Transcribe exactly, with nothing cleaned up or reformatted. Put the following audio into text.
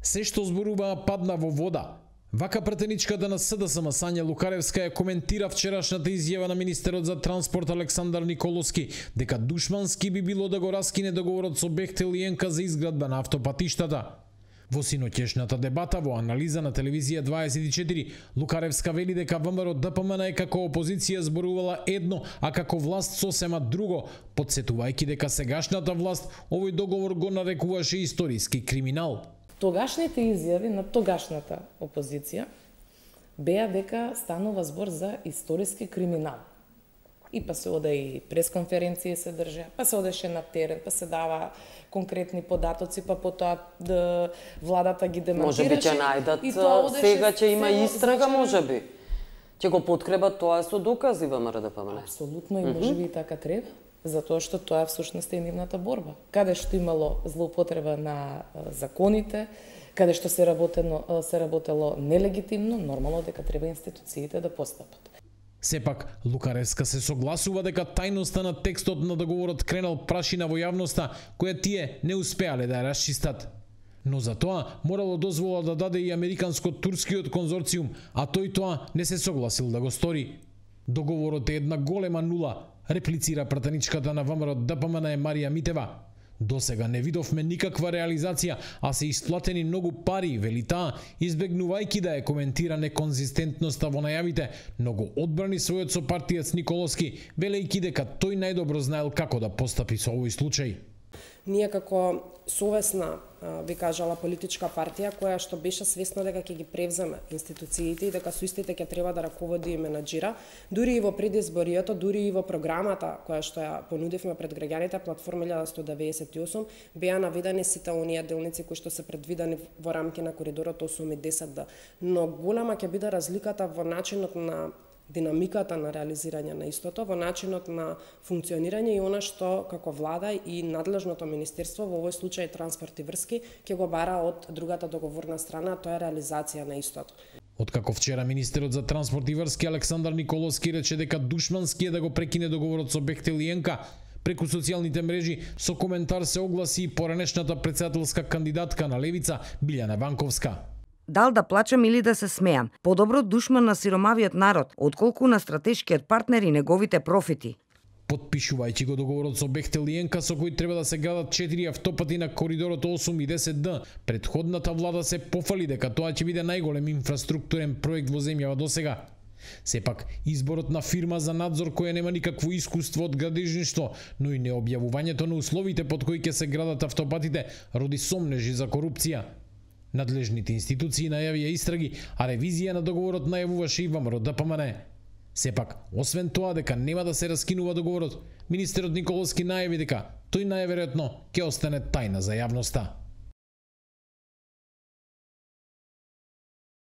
Се што зборуваа падна во вода. Вака претеничката на СДСМ Сања Лукаревска ја коментира вчерашната изјава на министерот за транспорт Александар Николовски дека душмански би било да го раскине договорот со Бехтел и ЕНКА за изградба на автопатиштата. Во синоќешната дебата во анализа на телевизија дваесет и четири, Лукаревска вели дека ВМРО ДПМН е како опозиција зборувала едно, а како власт сосема друго, подсетувајќи дека сегашната власт овој договор го нарекуваше историски криминал. Тогашните изјави на тогашната опозиција беа дека станува збор за историски криминал. И па се оде и пресконференции се држа, па се одеше на терен, па се дава конкретни податоци, па потоа да владата ги демонтираше. Може би ќе најдат, сега ќе има истрага, може би. Ќе го подкрепат тоа со докази ВМРО ДПМН. Апсолутно, и може би и така треба. Затоа што тоа всушност е нивната борба. Каде што имало злоупотреба на законите, каде што се работено се работело нелегитимно, нормално дека треба институциите да постапат. Сепак, Лукаревска се согласува дека тајноста на текстот на договорот кренал прашина во јавноста, која тие не успеале да ја расчистат. Но за тоа морало дозвола да даде и американско-турскиот конзорциум, а тој тоа не се согласил да го стори. Договорот е една голема нула, реплицира пратеничката на ВМРО ДПМН Марија Митева. Досега не видовме никаква реализација, а се исплатени многу пари, вели таа, избегнувајќи да ја коментира неконзистентноста во најавите, но го одбрани својот сопартиец Николовски, велејќи дека тој најдобро знаел како да постапи со овој случај. Ние како совесна, би кажала, политичка партија која што беше свесна дека ќе ги превземе институциите и дека со истите ќе треба да раководи и менаџира, дури и во предизборието, дури и во програмата која што ја понудивме пред граѓаните, платформа илјада сто деведесет и осум, беа наведени сите оние делници кои што се предвидени во рамки на коридорот осум и десет Д. Но голема ќе биде разликата во начинот на динамиката на реализирање на истото, во начинот на функционирање и она што како влада и надлежното министерство, во овој случај транспорт и врски, ќе го бара од другата договорна страна, тоа е реализација на истото. Откако вчера министерот за транспорт и врски Александар Николовски рече дека душмански е да го прекине договорот со Бехтел и ЕНКА, преку социјалните мрежи со коментар се огласи и поранешната претседателска кандидатка на Левица Билјана Ванковска. Дал да плачам или да се смеам, подобро душман на сиромавиот народ, отколку на стратешкиот партнер и неговите профити. Подпишувајќи го договорот со Бехтел и ЕНКА со кој треба да се градат четири автопати на коридорот осум и десет Д, претходната влада се пофали дека тоа ќе биде најголем инфраструктурен проект во земјава досега. Сепак, изборот на фирма за надзор која нема никакво искуство од градежништво, но и необјавувањето на условите под кои ќе се градат автопатите роди сомнежи за корупција. Надлежните институции најавија истраги, а ревизија на договорот најавуваше и ВМРО ДПМН. Сепак, освен тоа дека нема да се раскинува договорот, министерот Николовски најави дека тој најверојатно ќе остане тајна за јавноста.